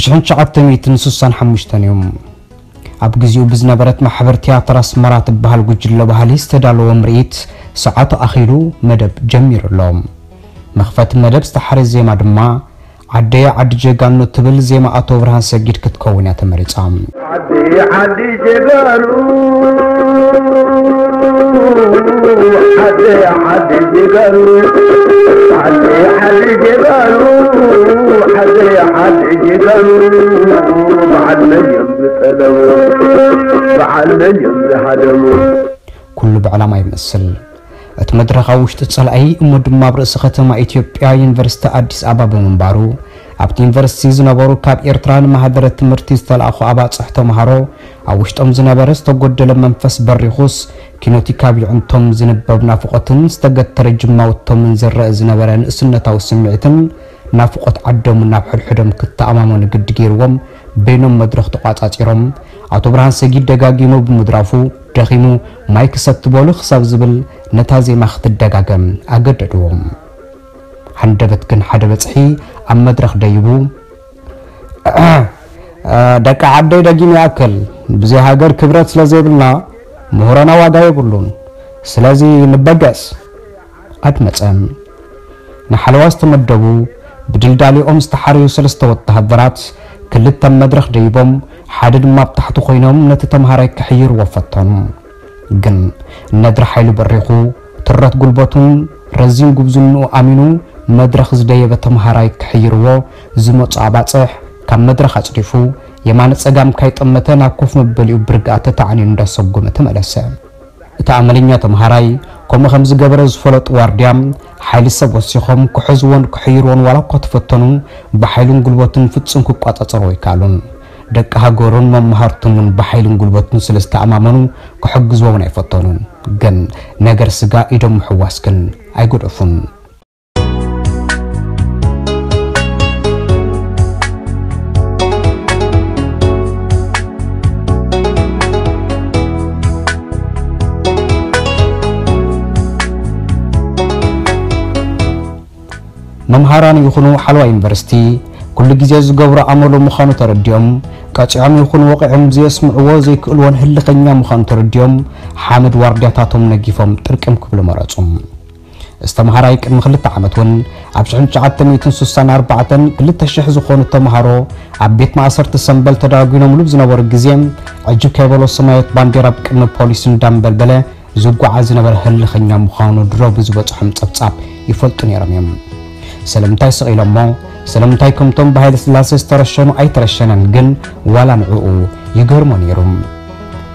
ሽሕን ትሽዓተ ሚእትን ስሳን ሓሙሽተን እዩ። ኣብ ግዜኡ ብዝነበረት ማሕበር ቲያትር ኣስመራ ትበሃል ጉጅለ ባህሊ ዝተዳለወ ምርኢት ሰዓቱ ኣኺሉ መደብ ጀሚሩ ኣሎ። መኽፈቲ መደብ ዝተሓረ ዜማ ድማ ዓደየ ዓዲ ጀጋኑ ትብል ዜማ ኣቶ ብርሃን ሰጊድ ክትከውን እያ ተመሪጻ። ዓዲ ዓዲ ጀጋኑ፣ ዓዲ ዓዲ ጀጋኑ፣ ዓዲ ዓዲ ጀጋኑ፣ ዓዲ ዓዲ ጀጋኑ፣ በዓል መን እዮም ዝጠለሙ፣ በዓል መን እዮም ዝሃደሙ። ኩሉ ብዕላማ ይመስል። እቲ መድረኽ ኣብ ውሽጢ ጸላኢ እሞ ድማ ኣብ ርእሲ ከተማ ኢትዮጵያ ዩኒቨርሲቲ ኣዲስ ኣበባ ብምንባሩ፣ ኣብቲ ዩኒቨርሲቲ ዝነበሩ ካብ ኤርትራ ንማህደረ ትምህርቲ ዝተላእኹ ኣባጽሕ ተምሃሮ ኣብ ውሽጦም ዝነበረ ዝተጎደለ መንፈስ በሪኹስ፣ ኪኖቲ ካብ ይዕንቶም ዝንበብ ናፍቖትን ዝተገተረ ጅማውቶምን ዝረአ ዝነበረ ንእስነታዊ ስምዒትን ናፍቖት ዓዶምን ናብ ሕድሕዶም ክተኣማመኑ ግዲ ገይርዎም በይኖም መድረኽ ተቋጻጺሮም፣ ኣቶ ብርሃን ሰጊድ ደጋጊሙ ብምድራፉ ደኺሙ ማይ ክሰቲ በሉ ክሳብ ዝብል ነታ ዜማ ክትደጋገም ኣገደድዎም። ሃንደበት ግን ሓደ በጽሒ ኣብ መድረኽ ደይቡ፣ ደቂ ዓደይ ደጊም ይኣክል፣ ብዘይ ሃገር ክብረት ስለ ዘይብልና ምሁረና ዋጋ የብሉን። ስለዚ ንበገስ ኣድመጸ። ንሓለዋ ዝተመደቡ ብድልዳሊኦም ዝተሓረዩ ሰለስተ ወተሃደራት ክልተ ኣብ መድረኽ ደይቦም ሓደ ድማ ኣብ ታሕቲ ኮይኖም ነቲ ተምሃራይ ክሕይርዎ ፈተኑ። ግን ነድሪ ሓይሉ በሪኹ ትረት ጉልበቱን ረዚን ጉብዝንኡ ኣሚኑ መድረኽ ዝደየበ ተምሃራይ ክሕይርዎ ዝመጹ ኣባጽሕ ካብ መድረኽ ኣጽዲፉ የማነ ጸጋም ካይጠመተ ናብ ኮፍ መበሊኡ ብርግኣ ተታዕኒኑ እንዳሰጎመ ተመለሰ። እቲ ኣመለኛ ተምሃራይ ከምኡ ከም ዝገበረ ዝፈለጡ ዋርድያ ሓይሊ ሰብ ወሲኾም ክሕዝዎን ክሕይርዎን ዋላ እኳ ተፈተኑ ብሓይሉን ጉልበቱን ፍጹም ክቋጻጸርዎ ኣይከኣሉን። ደቂ ሃገሩን መማህርቱን እውን ብሓይልን ጉልበቱን ስለ ዝተኣማመኑ ክሕግዝዎ እውን ኣይፈተኑን። ግን ነገር ስጋ ኢዶም ምሕዋስ ግን ኣይገደፉን። መምሃራን ይኹኑ ሓለዋ ዩኒቨርሲቲ ኩሉ ግዜ ዝገብሮ ኣመሉ ምዃኑ ተረዲኦም፣ ቀጺዖም ይኹኑ ወቒዖም ዘየስምዕዎ ዘይክእልዎን ህልኸኛ ምዃኑ ተረዲኦም፣ ሓመድ ዋርድያታቶም ነጊፎም ጥርቅም ክብሉ መረጹ። እዚ ተምሃራይ ቅድሚ ክልተ ዓመት እውን ኣብ ሽሕን ትሽዓተ ሚእትን ስሳን ኣርባዕተን ክልተ ሽሕ ዝኾኑ ተምሃሮ ኣብ ቤት ማእሰርቲ ሰምበል ተዳጒኖምሉ ብዝነበሩ ግዜ፣ ዕጅብ ከይበሎ ሰማያዊት ባንዴራ ኣብ ቅድሚ ፖሊስ እንዳንበልበለ ዝጓዓዝ ዝነበረ ህልኸኛ ምዃኑ ድሮ ብዝበጽሖም ጸብጻብ ይፈልጡ ነይሮም እዮም። ስለምንታይ ስቕ ኢሎሞ? ስለምንታይ ከምቶም ብሃይለ ስላሴ ዝተረሸኑ ኣይተረሸነን ግን ዋላ ንዕኡ ይገርሞ ነይሩ።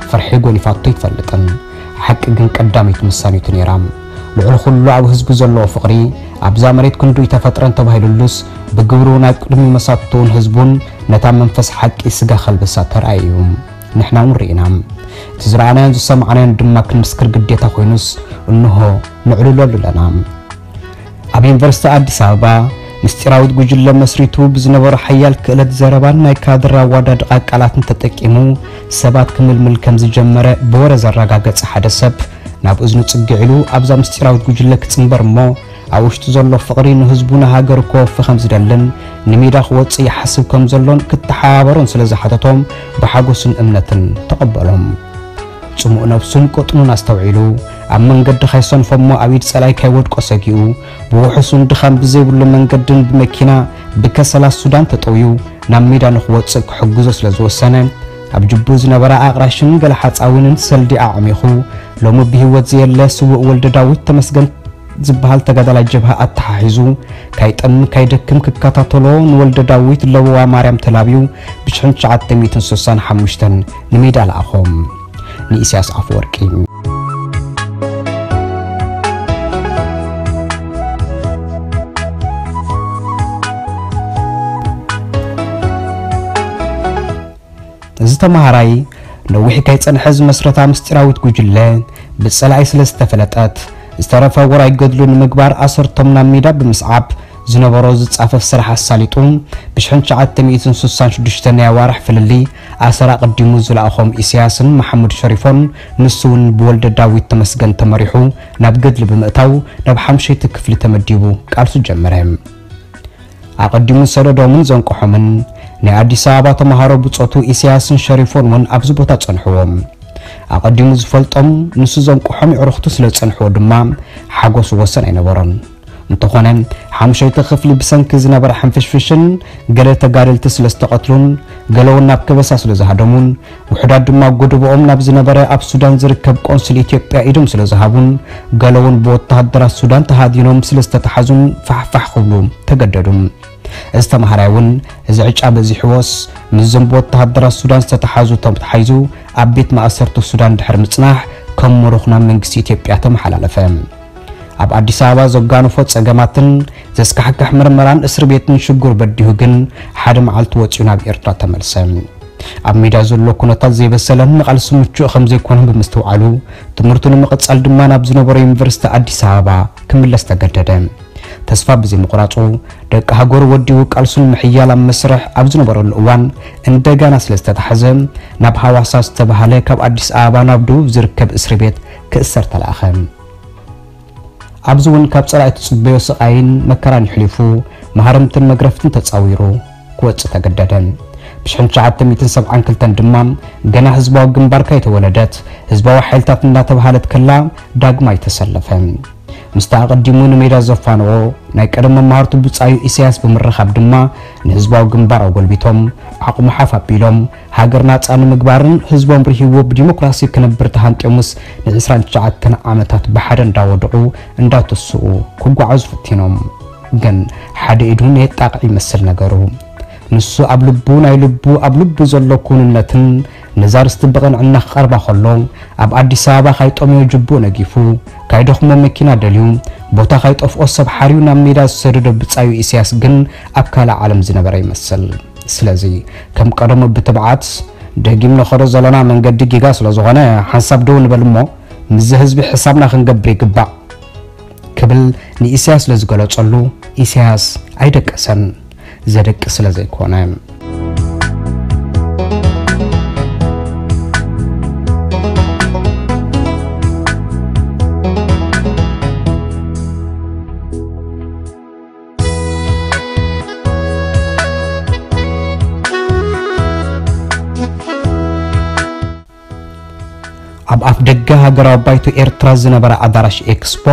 ፍርሒ ጎሊፋቶ ኣይትፈልጥን። ሓቂ ግን ቀዳመይቲ መሳኒቱ ነይራ። ልዕሊ ኩሉ ኣብ ህዝቡ ዘለዎ ፍቕሪ ኣብዛ መሬት ክንዱ ኣይተፈጥረን ተባሂሉሉስ ብግብሩ ናይ ቅድሚ መሳቱን ህዝቡን ነታ መንፈስ ሓቂ ስጋ ከልብሳ ተራእዩ እዩ። ንሕና እውን ርኢና። እቲ ዝረኣናዮን ዝሰማዕናዮን ድማ ክንምስክር ግዴታ ኮይኑስ እንሆ ነዕልለሉ ኣለና። ኣብ ዩኒቨርሲቲ ኣዲስ ኣበባ ምስጢራዊት ጉጅለ መስሪቱ ብዝነበሮ ሓያል ክእለት ዘረባን ናይ ካድር ኣዋዳድቓ ቃላትን ተጠቂሙ ሰባት ክምልምል ከም ዝጀመረ ብወረ ዘረጋገጸ ሓደ ሰብ ናብ እዝኑ ጽግዕ ኢሉ ኣብዛ ምስጢራዊት ጉጅለ ክጽንበር እሞ ኣብ ውሽጡ ዘሎ ፍቕሪ ንህዝቡ ንሃገሩ ከወፊ ከም ዝደልን ንሜዳ ክወጽእ ይሓስብ ከም ዘሎን ክተሓባበሮን ስለ ዝሓተቶም ብሓጎስን እምነትን ተቐበሎም። ጽሙእ ነብሱን ቅጥኑን ኣስተውዒሉ ኣብ መንገዲ ካይሰንፎ እሞ ኣብ ኢድ ጸላኢ ካይወድቆ ሰጊኡ ብውሑሱን ድኻም ብዘይብሉ መንገድን ብመኪና ብከሰላት ሱዳን ተጠውዩ ናብ ሜዳ ንኽወጽእ ክሕግዞ ስለ ዝወሰነ ኣብ ጅቡ ዝነበረ ኣቕራሽን ገለ ሓጻዊንን ሰልዲ ኣዕሚኹ ሎሚ ብህይወት ዘየለ ስዉእ ወልደ ዳዊት ተመስገን ዝበሃል ተጋዳላይ ጀብሃ ኣተሓሒዙ ካይጠም ካይደክም ክከታተሎ ንወልደ ዳዊት ለበዋ ማርያም ተላብዩ ብሽሕን ትሽዓተ ሚእትን ስሳን ሓሙሽተን ንሜዳ ለኣኾ። ንኢሳያስ ኣፈወርቂ። እዚ ተምሃራይ ነዊሕ ከይጸንሐ ዝመስረታ ምስጢራዊት ጉጅለ ብጸላኢ ስለ ዝተፈለጠት ዝተረፈ ውራይ ገድሉ ንምግባር ኣሰርቶም ናብ ሜዳ ብምስዓብ ዝነበሮ ዝጻፈፍ ስራሕ ኣሳሊጡ ብሽሕን ትሽዓተ ሚእትን ስሳን ሽዱሽተ ናይ ኣዋርሕ ፍልልይ ኣሰር ኣቐዲሙ ዝለኣኾም ኢሳያስን መሓሙድ ሸሪፎን ንሱ እውን ብወልደ ዳዊት ተመስገን ተመሪሑ ናብ ገድሊ ብምእታው ናብ ሓምሸይቲ ክፍሊ ተመዲቡ ቃልሱ ጀመረ። ኣቐዲሙ ዝሰደዶምን ዘንቀሖምን ናይ ኣዲስ ኣበባ ተምሃሮ ብጾቱ ኢሳያስን ሸሪፎን እውን ኣብዚ ቦታ ጸንሕዎም። ኣቐዲሙ ዝፈልጦም፣ ንሱ ዘንቅሖም የዕሩኽቱ ስለ ዝጸንሕዎ ድማ ሓጎስ ወሰን ኣይነበሮን። እንተኾነ፣ ሓሙሸይቲ ክፍሊ ብሰንኪ ዝነበረ ሕንፍሽፍሽን ገለ ተጋደልቲ ስለ ዝተቐትሉን ገለ እውን ናብ ከበሳ ስለ ዝሃደሙን ውሑዳት ድማ ጎደቦኦም ናብ ዝነበረ ኣብ ሱዳን ዝርከብ ቆንስል ኢትዮጵያ ኢዶም ስለ ዝሃቡን ገለ እውን ብወተሃደራት ሱዳን ተሃዲኖም ስለ ዝተተሓዙን ፋሕፋሕ ክብሉ ተገደዱ። እዚ ተምሃራይ እውን እዚ ዕጫ በዚሕዎስ ምስዞም ብወተሃደራት ሱዳን ዝተተሓዙ ተተሓሒዙ ኣብ ቤት ማእሰርቲ ሱዳን ድሕሪ ምጽናሕ ከም ምሩኽ ናብ መንግስቲ ኢትዮጵያ ተመሓላለፈ። ኣብ ኣዲስ ኣበባ ዘጋነፎ ጸገማትን ዘስካሕክሕ ምርመራን እስሪ ቤትን ሽጉር በዲሁ ግን ሓደ መዓልቲ ወጺኡ ናብ ኤርትራ ተመልሰ። ኣብ ሜዳ ዘሎ ኩነታት ዘይበሰለን ንቓልሲ ምቹእ ከም ዘይኮነን ብምስትውዓሉ ትምህርቱ ንምቕጻል ድማ ናብ ዝነበሮ ዩኒቨርሲቲ ኣዲስ ኣበባ ክምለስ ተገደደ። ተስፋ ብዘይምቑራጹ ደቂ ሃገሩ ወዲቡ ቃልሱ ንምሕያል ኣብ መስርሕ ኣብ ዝነበረሉ እዋን እንደገና ስለ ዝተታሕዘ ናብ ሃዋሳ ዝተባህለ ካብ ኣዲስ ኣበባ ናብ ደቡብ ዝርከብ እስሪ ቤት ክእሰር ተላእኸ። ኣብዚ እውን ካብ ጸላኢ ትጽበዮ ስቓይን መከራን ይሕሊፉ፣ ማህረምትን መግረፍትን ተጻዊሩ ክወጽእ ተገደደ። ብሽሕን ትሽዓተ ሚእትን ሰብዓን ክልተን ድማ ገና ህዝባዊ ግንባር ከይተወለደት ህዝባዊ ሓይልታት እናተባህለት ከላ ዳግማይ ተሰለፈ። ምስቲ ኣቐዲሙ ንሜዳ ዘፋነዎ ናይ ቀደም መማህርቱ ብጻዩ ኢሳያስ ብምርኻብ ድማ ንህዝባዊ ግንባር ኣጎልቢቶም ዓቕሙ ሓፍ ኣቢሎም ሃገር ናጻ ንምግባርን ህዝቦም ርሂዎ ብዲሞክራሲ ክነብር ተሃንጥዮምስ ንዕስራን ትሽዓተን ዓመታት ብሓደ እንዳወድቑ እንዳተስኡ ክጓዓዙ ፈቲኖም። ግን ሓደ ኢዱ ነየጣቕዕ ይመስል ነገሩ። ንሱ ኣብ ልቡ ናይ ልቡ ኣብ ልቡ ዘሎ ክውንነትን ነዛ ርስቲ ብቕንዕና ክቐርባ ከሎ ኣብ ኣዲስ ኣበባ ካይጠምዮ ጅቡእ ነጊፉ ካይደኽሞ መኪና ደልዩ ቦታ ካይጠፍኦ ሰብ ሓርዩ ናብ ሜዳ ዝሰደዶ ብጻዩ ኢሳያስ ግን ኣብ ካልእ ዓለም ዝነበረ ይመስል። ስለዚ ከም ቀደሙ ብትብዓት ደጊም ንኸዶ ዘለና መንገዲ ጌጋ ስለ ዝኾነ ሓንሳብ ደው ንበል እሞ ምስዚ ህዝቢ ሕሳብና ክንገብር ይግባእ ክብል ንኢሳያስ ስለ ዝገለጸሉ ኢሳያስ ኣይደቀሰን። ዘደቂ ስለ ዘይኮነ። ኣብ ኣፍ ደገ ሃገራዊ ባይቶ ኤርትራ ዝነበረ ኣዳራሽ ኤክስፖ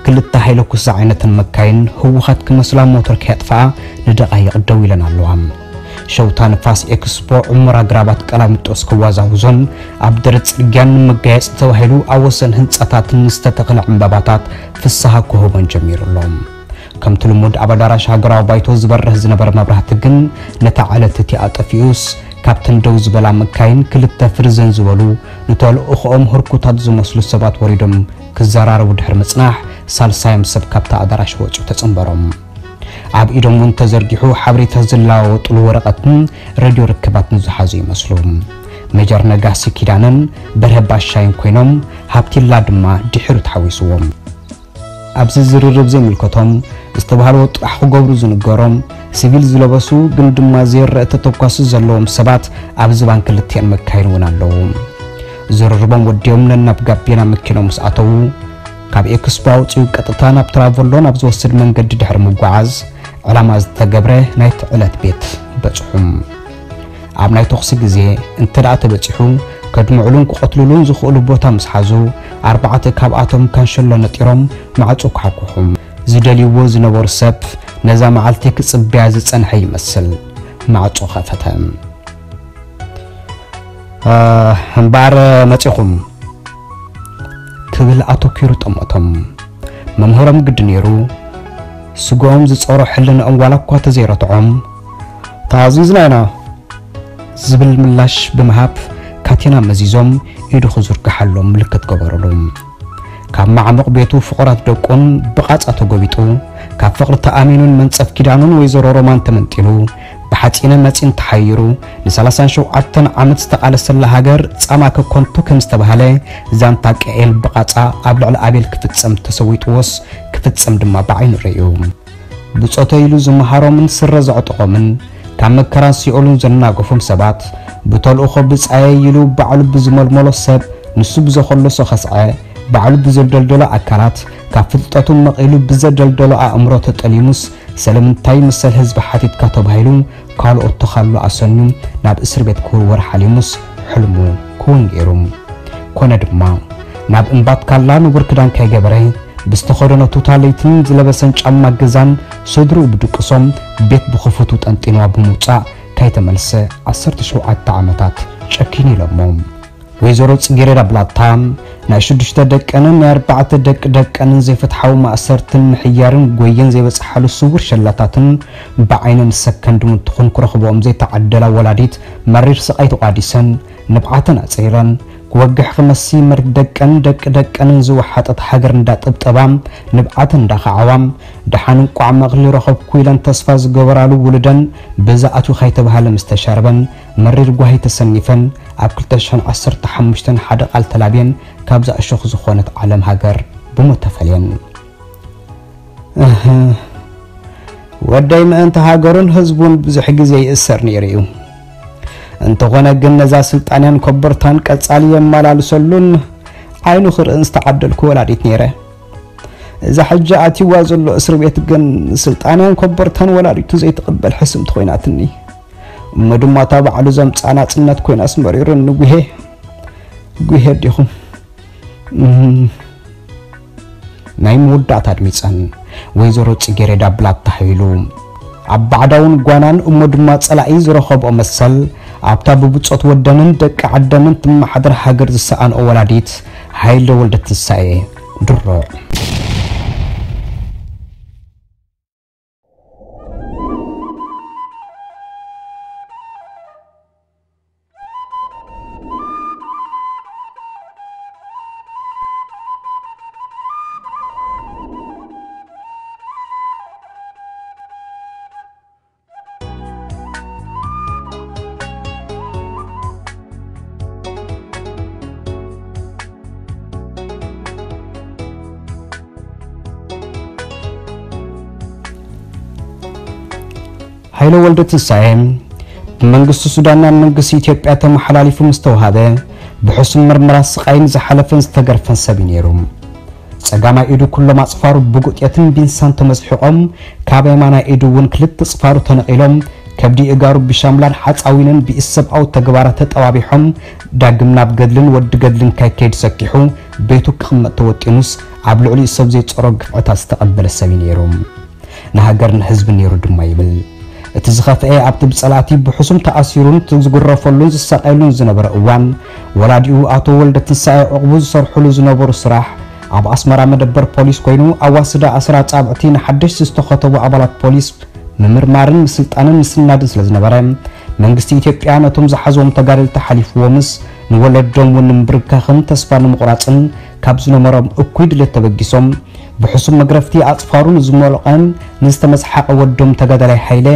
ክልተ ሃይለኩስ ዝዓይነተን መካይን ህውኻት ክመስላ ሞተር ከየጥፍኣ ንደቓይቕ ደው ኢለን ኣለዋ። ሸውታ ንፋስ ኤክስፖ ዕሙር ኣግራባት ቀላሚጦስ ክዋዛውዞን ኣብ ደረት ጽርግያን ንመጋየጺ ተባሂሉ ኣብ ወሰን ህንጻታትን ዝተተኽለ ዕምባባታት ፍስሃ ክህቦን ጀሚሩ ኣሎ። ከምቲ ልሙድ ኣብ ኣዳራሽ ሃገራዊ ባይቶ ዝበርህ ዝነበረ መብራህቲ ግን ነታ ዕለት እቲኣ ጠፊኡስ ካብተን ደው ዝበላ መካይን ክልተ ፍርዘን ዝበሉ ንተልእኾኦም ህርኩታት ዝመስሉ ሰባት ወሪዶም ክዘራረቡ ድሕሪ ምጽናሕ ሳልሳዮም ሰብ ካብታ ኣዳራሽ ወጺኡ ተጸንበሮም። ኣብ ኢዶም እውን ተዘርጊሑ ሓበሬታ ዝለዋወጥሉ ወረቐትን ሬድዮ ርክባትን ዝሓዙ ይመስሉ። ሜጀር ነጋሲ ኪዳነን በርሀ ባሻይን ኮይኖም ሃብቲላ ድማ ድሒሩ ተሓዊስዎም። ኣብዚ ዝርርብ ዘይምልከቶም ዝተባህልዎ ጥራሕ ክገብሩ ዝንገሮም ሲቪል ዝለበሱ ግን ድማ ዘይረአ ተተኳሲ ዘለዎም ሰባት ኣብዚ ባን ክልቲአን መካይን እውን ኣለዉ። ዝርርቦም ወዲኦም ነናብ ጋቤና መኪኖም ምስ ኣተዉ ካብ ኤክስፖ ኣውፅኡ ቀጥታ ናብ ትራቮሎ ናብ ዝወስድ መንገዲ ድሕሪ ምጓዓዝ ዕላማ ዝተገብረ ናይቲ ዕለት ቤት በፅሑ። ኣብ ናይ ተኹሲ ግዜ እንተ ደኣ ተበጺሑ ከድምዕሉን ክቐትልሉን ዝኽእሉ ቦታ ምስ ሓዙ ኣርባዕተ ካብኣቶም ካንሸሎ ነጢሮም ማዕጾ ኳሕኩሑ። ዝደልይዎ ዝነበሩ ሰብ ነዛ መዓልቲ ክጽበያ ዝጸንሐ ይመስል ማዕጾ ኸፈተ። እምበኣር መጺኹም ክብል ኣተኲሩ ጠመቶም። መምህሮም ግዲ ነይሩ ስግኦም ዝጸሮ ሕልንኦም ዋላ እኳ ተዘይረትዖም ተኣዚዝና ኢና ዝብል ምላሽ ብምሃብ ካቴና መዚዞም ኢዱ ክዝርግሓሎም ምልክት ገበሩሉ። ካብ ማዕሙቕ ቤቱ ፍቑራት ደቁን ብቓጻ ተጎቢጡ ካብ ፍቕሪ ተኣሚኑን መንጸፍ ኪዳኑን ወይዘሮ ሮማን ተመንጢሉ ብሓጺነ መጺን ተሓይሩ ንሰላሳን ሸውዓተን ዓመት ዝተቓለሰላ ሃገር ጻማ ከኮንቱ ከም ዝተባህለ ዛንታ ቀኤል ብቓጻ ኣብ ልዕሊ ኣቤል ክፍጸም ተሰዊጥዎስ ክፍጸም ድማ ብዓይኑ ርእዩ። ብጾተ ኢሉ ዝመሃሮምን ስረ ዘዕጠቖምን ካብ መከራን ሲኦልን ዘናገፎም ሰባት ብተልእኾ ብጻየ ኢሉ ባዕሉ ብዝመልመሎ ሰብ ንሱ ብዘኸለሶ ኸስዐ ባዕሉ ብዘደልደሎ ኣካላት ካብ ፍልጠቱ መቒሉ ብዘደልደሎ ኣእምሮ ተጠሊሙስ ስለምንታይ መሰል ህዝቢ ሓቲትካ ተባሂሉ ካልኦት ተኻሉ ኣሰንዩ ናብ እስር ቤት ክውርወር ሓሊሙስ ሕልሙ ክውን ገይሩ። ኮነ ድማ ናብ እምባትካላ ንቡር ክዳን ከይገበረ ብዝተኸደኖ ቱታ ለይትን ዝለበሰን ጫማ ገዛን ስድርኡ ብድቅሶም ቤት ብኽፉቱ ጠንጢንዋ ብምውጻእ ካይተመልሰ ዓሰርተ ሸውዓተ ዓመታት ጨኪኑ ኢሎሞ። ወይዘሮ ጽጌረዳ ብላታ ናይ ሽዱሽተ ደቀንን ናይ ኣርባዕተ ደቂ ደቀንን ዘይፍትሓዊ ማእሰርትን ምሕያርን ጎየን ዘይበጽሓሉ ስውር ሸላታትን ብዓይነን ሰከንድውን ትኹን ክረኽብኦም ዘይተዓደላ ወላዲት መሪር ስቓይ ተቋዲሰን ንብዓተን ኣጽሪረን ክወግሕ ክመሲ መርት ደቀን ደቂ ደቀንን ዝወሓጠት ሃገር እንዳጠብጠባ ንብዓተን እንዳኸዓዋ ደሓን እንቋዕ መቕሊ ረኸብኩ ኢለን ተስፋ ዝገበራሉ ውሉደን ብዛ ኣትዩ ካይተባሃለ ምስ ተሻርበን መሪር ጓሂ ተሰኒፈን ኣብ ክልተ ሽሕን ዓሰርተ ሓሙሽተን ሓደ ቃል ተላብየን ካብዛ እሾኽ ዝኾነት ዓለም ሃገር ብሞት ተፈልየን። እህ፣ ወደይ ምእንቲ ሃገሩን ህዝቡን ብዙሕ ግዜ ይእሰር ነይሩ እዩ። እንተኾነ ግን ነዛ ስልጣንያን ኮበርታን ቀጻሊ የመላልሰሉን ዓይኑ ክርእን ዝተዓደልኩ ወላዲት ነይረ። እዛ ሕጂ ኣትይዋ ዘሎ እስር ቤት ግን ስልጣንያን ኮበርታን ወላዲቱ ዘይትቕበል ሕስምቲ ኮይናትኒ። እሞ ድማ እታ ባዕሉ ዘምጽኣ ናጽነት ኮይናስ መሪሩኒ ጉሄ። ጉሄ ዲኹም? እም። ናይ መወዳእታ ኣድሚጸን ወይዘሮ ጽጌረዳ ብላታ ሓይሉ ኣብ ባዕዳውን ጓናን እሞ ድማ ጸላኢ ዝረኸብኦ መሰል ኣብታ ብብጾት ወደንን ደቂ ዓደንን ትመሓደር ሃገር ዝሰኣንኦ ወላዲት ሃይለ ወልደ ትንሳኤ ድሮ። ሃይለ ወልደ ትንሳኤ ብመንግስቲ ሱዳን ናብ መንግስቲ ኢትዮጵያ ተመሓላሊፉ ምስ ተዋሃበ ብሕሱም ምርመራ ስቓይን ዝሓለፈን ዝተገርፈን ሰብ እዩ ነይሩ። ጸጋማይ ኢዱ ኩሎም ኣጽፋሩ ብጉጤትን ቢንሳን ተመዝሒቖም ካብ የማናይ ኢዱ እውን ክልተ ጽፋሩ ተነቒሎም ከብዲ እጋሩ ብሻምላን ሓጻዊንን ብኢሰብኣዊ ተግባራት ተጠባቢሖም ዳግም ናብ ገድልን ወዲ ገድልን ካይከይድ ሰኪሑ ቤቱ ክቕመጥ ተወጢኑስ ኣብ ልዕሊኡ ሰብ ዘይጸሮ ግፍዕታት ዝተቐበለ ሰብ እዩ ነይሩ። ንሃገርን ህዝብን ነይሩ ድማ ይብል። እቲ ዝኸፍአ ኣብቲ ብጸላእቲ ብሕሱም ተኣሲሩን ዝግረፈሉን ዝሳቐየሉን ዝነበረ እዋን ወላዲኡ ኣቶ ወልደ ትንሳኤ ዕቕቡ ዝሰርሕሉ ዝነበሩ ስራሕ ኣብ ኣስመራ መደበር ፖሊስ ኮይኑ ኣዋስዳ ኣስራ ኣጻብዕቲ ንሓደሽቲ ዝተኸተቡ ኣባላት ፖሊስ ምምርማርን ምስልጣንን ምስናድን ስለ ዝነበረ መንግስቲ ኢትዮጵያ ነቶም ዝሓዝዎም ተጋደልቲ ሓሊፍዎምስ ንወለዶም እውን ንምብርካኽን ተስፋ ንምቑራጽን ካብ ዝነበሮም እኩይ ድሌት ተበጊሶም ብሕሱም መግረፍቲ ኣጽፋሩ ንዝሞልቐን ንዝተመዝሓቐ ወዶም ተጋዳላይ ሓይለ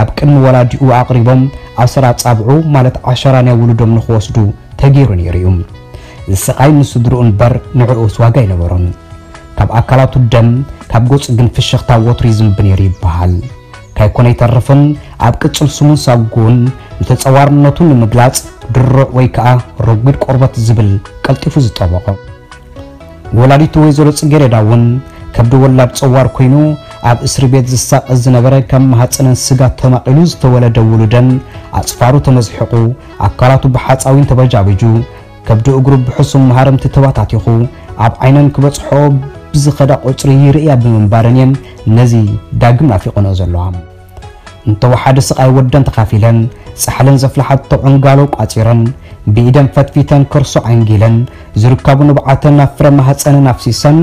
ኣብ ቅድሚ ወላዲኡ ኣቕሪቦም ኣስር ኣጻብዑ ማለት ዓሸራ ናይ ውሉዶም ንኽወስዱ ተገይሩ ነይሩ እዩ። እዚ ስቓይ ንስድርኡ እምበር ንዕኡስ ዋጋ ኣይነበሮን። ካብ ኣካላቱ ደም ካብ ገጹ ግን ፍሽኽታ ወትሩ ይዝንብ ነይሩ ይበሃል። ካይኮነ ኣይተርፍን ኣብ ቅጽል ስሙን ሳጉኡን ንተጸዋርነቱ ንምግላጽ ድሩዕ ወይ ከኣ ረጒድ ቆርበት ዝብል ቀልጢፉ ዝጠበቖ። ወላዲቱ ወይዘሮ ጽጌረዳ እውን ከብዲ ወላድ ጸዋር ኮይኑ ኣብ እስሪ ቤት ዝሳቐ ዝነበረ ካብ ማህጸነን ስጋ ተማቒሉ ዝተወለደ ውሉደን ኣጽፋሩ ተመዝሒቑ ኣካላቱ ብሓጻዊን ተበጃቢጁ ከብዲ እግሩ ብሕሱም መሃረምቲ ተባታቲኹ ኣብ ዓይነን ክበጽሖ ብዝኸዳ ቁጽሪ ይርእያ ብምንባረን እየን ነዚ ዳግም ናፊቐንኦ ዘለዋ። እንተወሓደ ስቓይ ወደን ተኻፊለን ጻሕለን ዘፍልሓቶ ዕንጋሎ ቋጺረን ብኢደን ፈትፊተን ከርሶ ዓንጊለን ዝርከቡ ንብዓተን ናብ ፍረ ማህጸነን ኣፍሲሰን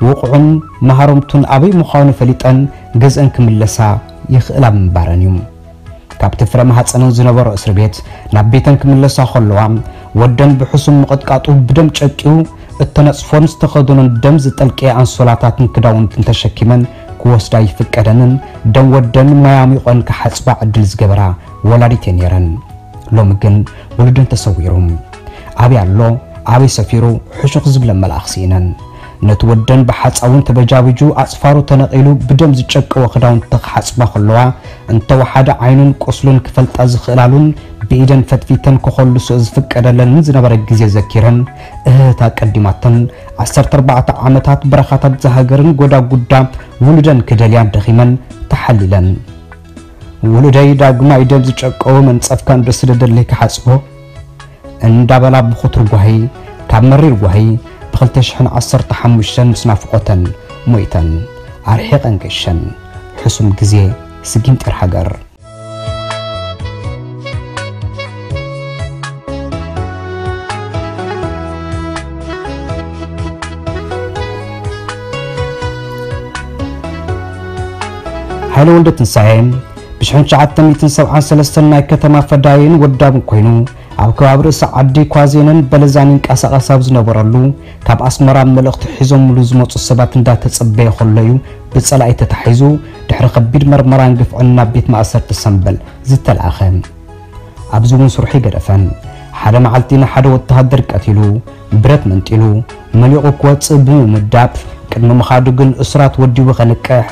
ውቕዑን መሃረምቱን ኣበይ ምዃኑ ፈሊጠን ገዝአን ክምለሳ ይኽእላ ምንባረን እዩ። ካብቲ ፍረ ማህጸነን ዝነበሮ እስሪ ቤት ናብ ቤተን ክምለሳ ከለዋ ወደን ብሕሱም ምቕጥቃጡ ብደም ጨቂዩ እተነጽፎን ዝተኸደኖን ደም ዝጠልቀየ ኣንሶላታትን ክዳውንትን ተሸኪመን ክወስዳ ይፍቀደንን ደም ወደን ማይ ኣሚቖን ክሓጽባ ዕድል ዝገበራ ወላዲት እየን ነይረን። ሎሚ ግን ውሉደን ተሰዊሩ። ኣበይ ኣሎ ኣበይ ሰፊሩ ሕሹኽ ዝብለን መልኣኽ ስኢነን። ነቲ ወደን ብሓጻውን ተበጃቢጁ ኣጽፋሩ ተነቒሉ ብደም ዝጨቀወ ክዳውንቲ ክሓጽባ ከለዋ እንተወሓደ ዓይኑን ቁስሉን ክፈልጣ ዝኽእላሉን ኢደን ፈትፊተን ክኾልሶ ዝፍቀደለንን ዝነበረ ግዜ ዘኪረን፣ እህህታ ቀዲማተን፣ ዓሰርተ ኣርባዕተ ዓመታት በረኻታት ዝሃገርን ጎዳጉዳ ውሉደን ክደልያ ደኺመን ተሓሊለን። ውሉደይ ዳግማይ ደም ዝጨቀወ መንጸፍካ እንዶ ስደደለይ ክሓጽቦ እንዳበላ ብኹቱር ጓሂ፣ ካብ መሪር ጓሂ ብ ክልተ ሽሕን ዓሰርተ ሓሙሽተን ምስ ናፍቖተን ሞይተን ኣርሒቐን ገሸን። ሕሱም ግዜ ስጊም ጢር ሃገር። ሃይለ ወልደ ትንሳኤ ብሽሕን ትሽዓተ ሚእትን ሰብዓን ሰለስተን ናይ ከተማ ፈዳይን ወዳብን ኮይኑ፣ ኣብ ከባቢ ርእሲ ዓዲ ኳዜንን በለዛን ይንቀሳቐስ ኣብ ዝነበረሉ፣ ካብ ኣስመራ መልእኽቲ ሒዞምሉ ዝመጹ ሰባት እንዳተጸበየ ከሎ እዩ ብጸላኢ ተታሒዙ፣ ድሕሪ ከቢድ መርመራን ግፍዕን ናብ ቤት ማእሰርቲ ሰምበል ዝተላእኸ። ኣብዚ እውን ስርሑ ይገደፈን። ሓደ መዓልቲ ንሓደ ወተሃደር ቀቲሉ፣ ብረት መንጢሉ፣ መሊቑ ክወጽእ ብምምዳብ፣ ቅድሚ ምኻዱ ግን እሱራት ወዲቡ ከንቅሕ፣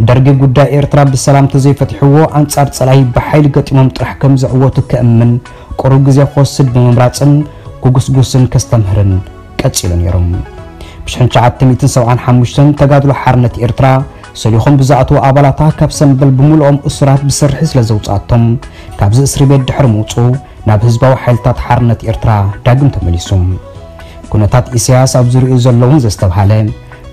ደርጊ ጉዳይ ኤርትራ ብሰላም ተዘይፈቲሕዎ፣ ኣንጻር ጸላኢ ብሓይሊ ገጢሞም ጥራሕ ከም ዝዕወቱ ከእምን፣ ቁሩብ ግዜ ክወስድ ብምምራጽን ክጉስጉስን ከስተምህርን ቀጺሉ ነይሩ። ብሽሕን ትሽዓተ ሚእትን ሰብዓን ሓሙሽተን ተጋድሎ ሓርነት ኤርትራ ሰሊኾም ብዝኣተዉ ኣባላታ ካብ ሰምበል ብምልኦም እሱራት ብስርሒ ስለ ዘውጽኣቶም፣ ካብዚ እስሪ ቤት ድሕሪ ምውጽኡ ናብ ህዝባዊ ሓይልታት ሓርነት ኤርትራ ዳግም ተመሊሱ። ኩነታት ኢሳያስ ኣብ ዙርያኡ ዘለውን ዘስተብሃለ፣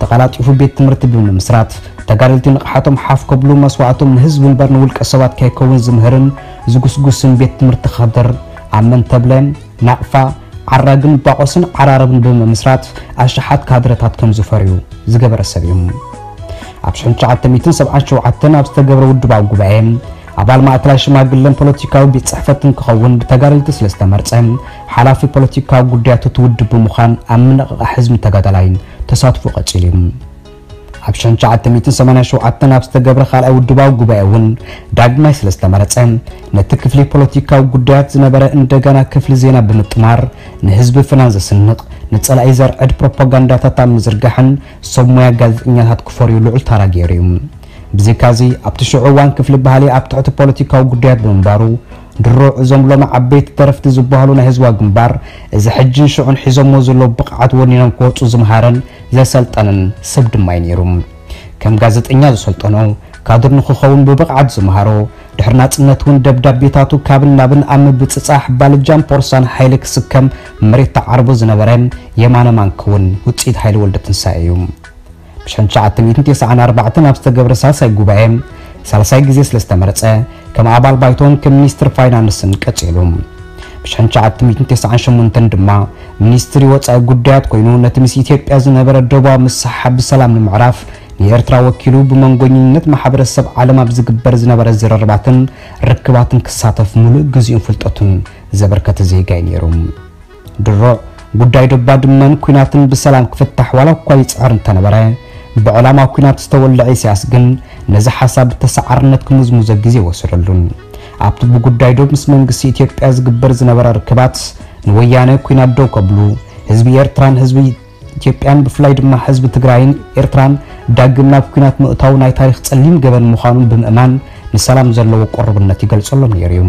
ተቐላጢፉ ቤት ትምህርቲ ብምምስራት፣ ተጋደልቲ ንቕሓቶም ሓፍ ከብሉ፣ መስዋእቶም ንህዝቢ እምበር ንውልቀ ሰባት ከይከውን ዝምህርን ዝጉስጉስን ቤት ትምህርቲ ካድር ኣብ መንተብለ፣ ናቕፋ፣ ዓራግን ባቆስን ዓራርብን ብምምስራት ኣሽሓት ካድረታት ከም ዝፈርዩ ዝገበረ ሰብ እዩ። ኣብ ሽሕን ትሽዓተ ሚእትን ሰብዓን ሸውዓተን ኣብ ዝተገብረ ውድባዊ ጉባኤ ኣባል ማእከላይ ሽማግለን ፖለቲካዊ ቤት ጽሕፈትን ክኸውን ብተጋደልቲ ስለ ዝተመርጸ፣ ሓላፊ ፖለቲካዊ ጉዳያት እቲ ውድብ ብምዃን ኣብ ምንቕቓሕ ህዝብን ተጋዳላይን ተሳትፎ ቀጺሉ እዩ። ኣብ ሽሕን ትሽዓተ ሚእትን ሰማንያን ሸውዓተን ኣብ ዝተገብረ ካልኣይ ውድባዊ ጉባኤ እውን ዳግማይ ስለ ዝተመረጸ፣ ነቲ ክፍሊ ፖለቲካዊ ጉዳያት ዝነበረ እንደገና ክፍሊ ዜና ብምጥማር፣ ንህዝቢ ፍናን ዘስንቕ፣ ንጸላኢ ዘርዕድ ፕሮፓጋንዳታት ኣብ ምዝርጋሕን ሰብ ሞያ ጋዜጠኛታት ክፈርዩ ልዑል ተራ ገይሩ እዩ። ብዘይካዚ፣ ኣብቲ ሽዑ እዋን ክፍሊ ባህሊ ኣብ ትሕቲ ፖለቲካዊ ጉዳያት ብምንባሩ፣ ድሮ እዞም ሎሚ ዓበይቲ ደረፍቲ ዝበሃሉ ናይ ህዝባዊ ግንባር፣ እዚ ሕጅን ሽዑን ሒዞሞ ዘለዉ ብቕዓት ወኒኖም ክወጹ ዝምሃረን ዘሰልጠነን ሰብ ድማ እዩ ነይሩ። ከም ጋዜጠኛ ዝሰልጠኖ፣ ካድር ንኽኸውን ብብቕዓት ዝምሃሮ፣ ድሕሪ ናጽነት እውን ደብዳቤታቱ ካብን ናብን ኣብ ምብጽጻሕ ባልጃን ፖርሳን ሓይሊ ክስከም መሬት ተዓርቦ ዝነበረ የማነ ማንኪ እውን ውጽኢት ሃይለ ወልደትንሳኤ እዩ። ብሽሕን ትሽዓተ ሚእትን ተስዓን ኣርባዕተን ኣብ ዝተገብረ ሳልሳይ ጉባኤ፣ ሳልሳይ ግዜ ስለ ዝተመረጸ፣ ከም ኣባል ባይቶን ከም ሚኒስትር ፋይናንስን ቀጺሉ። ብሽሕን ትሽዓተ ሚእትን ተስዓን ሸሞንተን ድማ ሚኒስትሪ ወጻኢ ጉዳያት ኮይኑ፣ ነቲ ምስ ኢትዮጵያ ዝነበረ ደቡባዊ ምስሕሓብ ብሰላም ንምዕራፍ ንኤርትራ ወኪሉ ብመንጎኝነት ማሕበረሰብ ዓለም ኣብ ዝግበር ዝነበረ ዝርርባትን ርክባትን ክሳተፍ ምሉእ ግዜኡን ፍልጠቱን ዘበርከተ ዜጋ እዩ ነይሩ። ድሮ ጉዳይ ዶብ ባድመን ኲናትን ብሰላም ክፍታሕ ዋላ እኳ ይጽዕር እንተነበረ፣ ብዕላማ ኲናት ዝተወልዐ ኢሳያስ ግን ነዚ ሓሳብ ብተሰዓርነት ክምዝምዞ ግዜ ኣይወሰደሉን። ኣብቲ ብጉዳይ ዶብ ምስ መንግስቲ ኢትዮጵያ ዝግበር ዝነበረ ርክባት ንወያነ ኲናት ደው ከብሉ፣ ህዝቢ ኤርትራን ህዝቢ ኢትዮጵያን ብፍላይ ድማ ህዝቢ ትግራይን ኤርትራን ዳግም ናብ ኲናት ምእታው ናይ ታሪኽ ጸሊም ገበን ምዃኑን ብምእማን ንሰላም ዘለዎ ቅሩብነት ይገልጸሎም ነይሩ እዩ።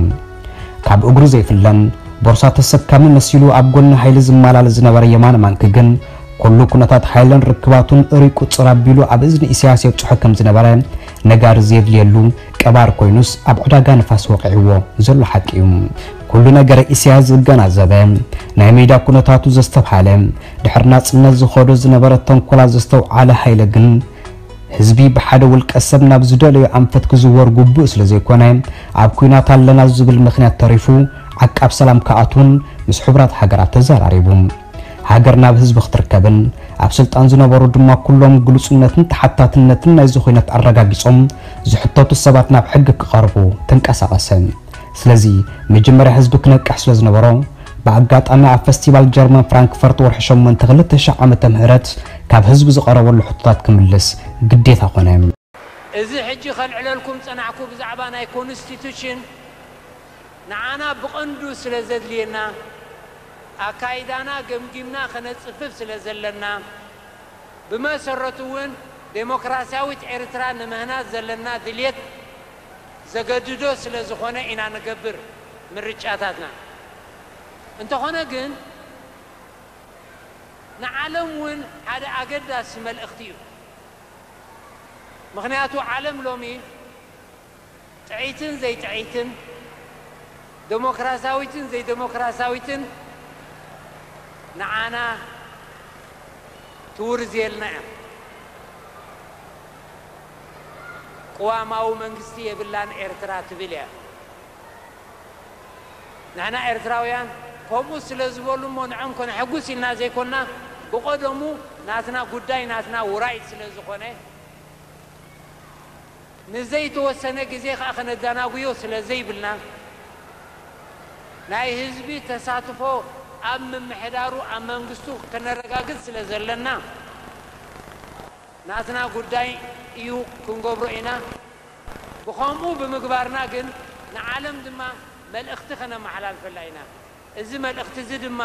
ካብ እግሩ ዘይፍለን ቦርሳ ተሰካሚ መሲሉ ኣብ ጎኒ ሃይሊ ዝመላለስ ዝነበረ የማነ ማንኪ ግን ኩሉ ኩነታት ሃይለን ርክባቱን እርይ ቁጽር ኣቢሉ ኣብ እዝኒ ኢሳያስ የብጽሖ ከም ዝነበረ ነጋሪ ዘየድልየሉ ቀባር ኮይኑስ ኣብ ዕዳጋ ንፋስ ወቒዕዎ ዘሎ ሓቂ እዩ። ኩሉ ነገረ ኢሳያስ ዝገናዘበ፣ ናይ ሜዳ ኩነታቱ ዘስተብሃለ፣ ድሕሪ ናጽነት ዝኸዶ ዝነበረ ተንኮላት ዘስተውዓለ ሃይለ ግን ህዝቢ ብሓደ ውልቀ ሰብ ናብ ዝደለዮ ኣንፈት ክዝወር ግቡእ ስለ ዘይኮነ፣ ኣብ ኲናት ኣለና ዝብል ምኽንያት ተሪፉ ዓቃብ ሰላም ክኣትውን ምስ ሕቡራት ሃገራት ተዘራሪቡ። ሃገር ናብ ህዝቢ ክትርከብን ኣብ ስልጣን ዝነበሩ ድማ ኩሎም ግሉጽነትን ተሓታትነትን ናይዚ ኲናት ኣረጋጊጾም ዝሕተቱ ሰባት ናብ ሕጊ ክቐርቡ ተንቀሳቐሰ። ስለዚ መጀመርያ ህዝቢ ክነቅሕ ስለ ዝነበሮ፣ ብኣጋጣሚ ኣብ ፈስቲቫል ጀርመን ፍራንክፈርት ወርሒ ሸሞንተ ክልተ ሽሕ ዓመተ ምህረት ካብ ህዝቢ ዝቐረበሉ ሕቶታት ክምልስ ግዴታ ኮነ። እዚ ሕጂ ከልዕለልኩም ጸናሕኩ ብዛዕባ ናይ ኮንስቲቱሽን ንዓና ብቐንዱ ስለ ዘድልየና፣ ኣካይዳና ገምጊምና ከነጽፍፍ ስለ ዘለና፣ ብመሰረቱ እውን ዴሞክራሲያዊት ኤርትራ ንምህናጽ ዘለና ድልየት ዘገድዶ ስለ ዝኾነ ኢና ንገብር። ምርጫታትና። እንተኾነ ግን ንዓለም እውን ሓደ ኣገዳሲ መልእኽቲ እዩ። ምኽንያቱ ዓለም ሎሚ ጥዕይትን ዘይጥዕይትን፣ ደሞክራሲያዊትን ዘይደሞክራሲያዊትን ንዓና ትውርዝየልና እያ። ቅዋማዊ መንግስቲ የብላን ኤርትራ ትብል እያ። ንሕና ኤርትራውያን ከምኡ ስለ ዝበሉ እሞ ንዖም ከነሐጉስ ኢልና ዘይኮና፣ ብቐደሙ ናትና ጉዳይ ናትና ውራይ ስለ ዝኾነ፣ ንዘይተወሰነ ግዜ ከኣ ከነዘናጉዮ ስለ ዘይብልና፣ ናይ ህዝቢ ተሳትፎ ኣብ ምምሕዳሩ ኣብ መንግስቱ ከነረጋግጽ ስለ ዘለና፣ ናትና ጉዳይ እዩ ክንገብሮ ኢና። ብኸምኡ ብምግባርና ግን ንዓለም ድማ መልእኽቲ ከነመሓላልፈላ ኢና። እዚ መልእኽቲ እዚ ድማ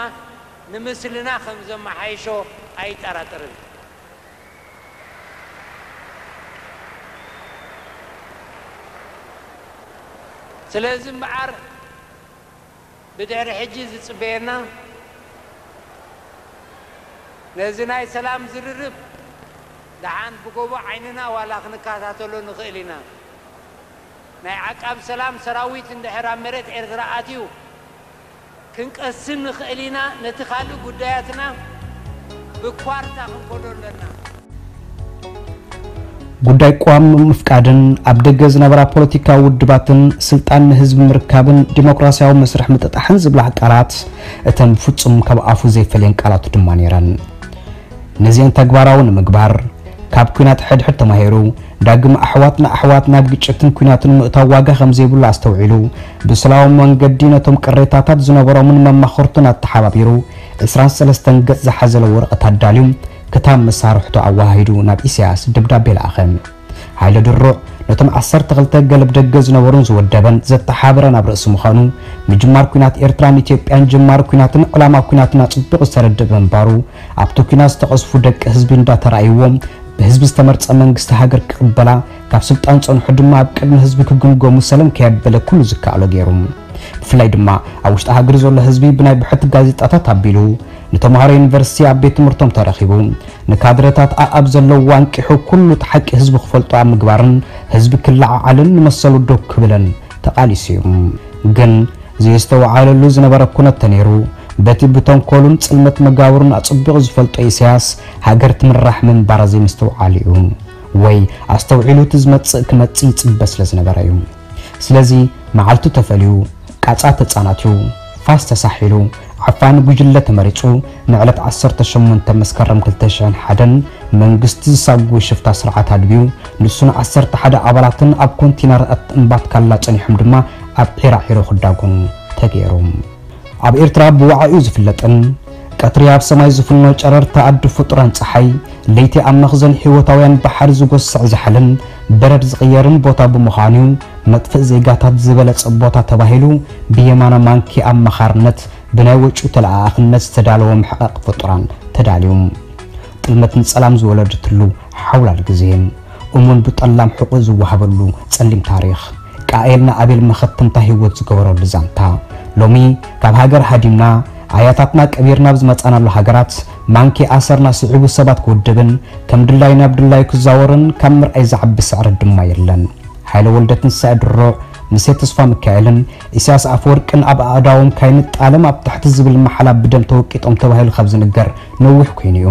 ንምስልና ከም ዘመሓይሾ ኣይጠራጠርን። ስለዚ እምበኣር ብድሕሪ ሕጂ ዝጽበየና ነዚ ናይ ሰላም ዝርርብ ደሓን ብጎቦ ዓይንና ዋላ ክንከታተሎ ንኽእል ኢና። ናይ ዓቃብ ሰላም ሰራዊት እንድሕር ኣብ መሬት ኤርትራ ኣትዩ ክንቀስን ንኽእል ኢና። ነቲ ካልእ ጉዳያትና ብኳርታ ክንከዶ ኣለና። ጉዳይ ቅዋም ምፍቃድን ኣብ ደገ ዝነበራ ፖለቲካዊ ውድባትን ስልጣን ንህዝቢ ምርካብን ዲሞክራሲያዊ መስርሕ ምጥጣሕን ዝብላ ቃላት እተን ፍጹም ካብ ኣፉ ዘይፈልየን ቃላቱ ድማ ነይረን። ነዚአን ተግባራዊ ንምግባር ካብ ኲናት ሕድሕድ ተማሂሩ ዳግም ኣሕዋት ንኣሕዋት ናብ ግጭትን ኲናትን ምእታው ዋጋ ከም ዘይብሉ ኣስተውዒሉ ብሰላማዊ መንገዲ ነቶም ቅሬታታት ዝነበሮምን መማኽርቱን ኣተሓባቢሩ ዕስራን ሰለስተን ገጽ ዝሓዘለ ወረቐት ኣዳልዩ ክታብ መሳርሕቱ ኣወሃሂዱ ናብ ኢሳያስ ደብዳቤ ለኣኸ። ሃይለ ድሩዕ ነቶም ዓሰርተ ክልተ ገለብ ደገ ዝነበሩን ዝወደበን ዘተሓበረን ኣብ ርእሲ ምዃኑ ምጅማር ኲናት ኤርትራን ኢትዮጵያን ጀማሪ ኲናትን ዕላማ ኲናትን ኣጽቢቑ ዝተረድእ ብምንባሩ ኣብቲ ኲናት ዝተቐዝፉ ደቂ ህዝቢ እንዳተራእይዎ ብህዝቢ ዝተመርጸ መንግስቲ ሃገር ክቕበላ ካብ ስልጣን ጸንሑ ድማ ኣብ ቅድሚ ህዝቢ ክግምገሙ ሰለም ከየበለ ኩሉ ዝከኣሎ ገይሩ። ብፍላይ ድማ ኣብ ውሽጢ ሃገር ዘሎ ህዝቢ ብናይ ብሕቲ ጋዜጣታት ኣቢሉ ንተምሃሮ ዩኒቨርሲቲ ኣብ ቤት ትምህርቶም ተረኺቡ ንካድረታት ኣኣብ ዘለዉ ኣንቂሑ ኩሉ እቲ ሓቂ ህዝቢ ክፈልጦ ኣብ ምግባርን ህዝቢ ክለዓዓልን ንመሰሉ ደው ክብልን ተቓሊሱ እዩ። ግን ዘየስተውዓለሉ ዝነበረ ኩነት ተነይሩ በቲ ብተንኮሉን ጽልመት መጋብሩን ኣጽቢቑ ዝፈልጦ ኢሳያስ ሃገር ትምራሕ ምንባራ ዘይምስትውዓሉ እዩ። ወይ ኣስተውዒሉ እቲ ዝመጽእ ክመጽእ ይጽበ ስለ ዝነበረ እዩ። ስለዚ መዓልቱ ተፈልዩ፣ ቃጻ ተጻናትዩ፣ ፋስ ተሳሒሉ፣ ዓፋኒ ጉጅለ ተመሪጹ፣ ንዕለት ዓሰርተ ሸሞንተ መስከረም ክልተ ሽሕን ሓደን መንግስቲ ዝሳጉ ሽፍታ ስርዓት ኣድብዩ፣ ንሱን ዓሰርተ ሓደ ኣባላትን ኣብ ኮንቲነራት እምባትካላ ጸኒሖም ድማ ኣብ ዒራዒሮ ክዳጎኑ ተገይሩ። ኣብ ኤርትራ ብዋዕኡ ዝፍለጥን ቀትሪ ኣብ ሰማይ ዝፍኖ ጨረርቲ ኣዲ ፍጡራን ጸሓይ፣ ለይቲ ኣብ መኽዘን ህይወታውያን ባሕሪ ዝጎስዕ ዛሕልን በረድ ዝቕየርን ቦታ ብምዃኑ፣ መጥፍእ ዜጋታት ዝበለጸ ቦታ ተባሂሉ ብየማነ ማንኪ ኣመኻርነት ብናይ ወጪ ተለኣኣኽነት ዝተዳለወ መሕቐቒ ፍጡራን ተዳልዩ። ጥልመትን ጸላም ዝወለደትሉ ሓውላል ግዜ፣ እሙን ብጠላም ሕቖ ዝወሃበሉ ጸሊም ታሪኽ፣ ቃኤል ንኣቤል መኸተምታ ህይወት ዝገበረሉ ዛንታ፣ ሎሚ ካብ ሃገር ሃዲምና ኣያታትና ቀቢርና ኣብ ዝመጻናሉ ሃገራት ማንኪ ኣሰርና ስዒቡ ሰባት ክውድብን ከም ድላዩ ናብ ድላዩ ክዛወርን ካብ ምርኣይ ዝዓቢ ስዕረት ድማ የለን። ሃይለ ወልደትንሳኤ ድሩዕ፣ ምሴ ተስፋሚካኤልን ኢሳያስ ኣፈወርቅን ኣብ ኣእዳዎም ካይንጣለም ኣብ ትሕቲ ዝብል ማሕላ ብደም ተወቂጦም ተባሂሉ ካብ ዝንገር ነዊሕ ኮይኑ እዩ።